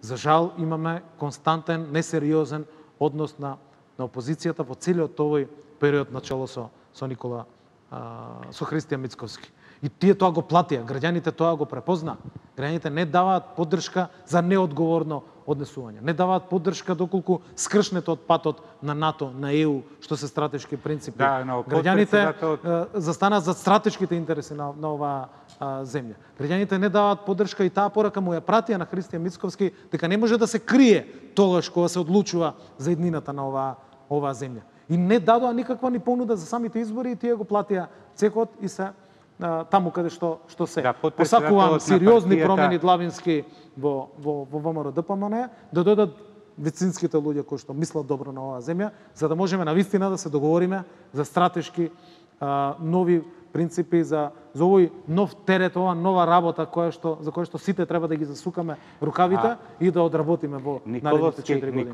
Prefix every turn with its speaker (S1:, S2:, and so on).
S1: За жал имаме константен, несериозен однос на опозицијата во целиот овој период начело со Христијан Мицковски. И тие тоа го платија, граѓаните тоа го препозна. Граѓаните не даваат поддршка за неодговорно однесување. Не даваат поддршка доколку скршнете од патот на НАТО, на ЕУ, што се стратешки принципи.
S2: Да,
S1: граѓаните застанаат за стратешките интереси на оваа земја. Граѓаните не даваат поддршка и таа порака му ја пратија на Христијан Мицковски дека не може да се крие тогаш кога се одлучува за иднината на оваа земја. И не дадоа никаква ни понуда за самите избори и тие го платија цекот и се таму каде што се.
S2: Да,
S1: посакувам сериозни промени длабински во ВМРО ДПМН, да додат вицинските луѓе кои што мислат добро на оваа земја, за да можеме навистина да се договориме за стратешки нови принципи за овој нов терет, ова нова работа за која што сите треба да ги засукаме рукавите и да одработиме во наредните 4 години.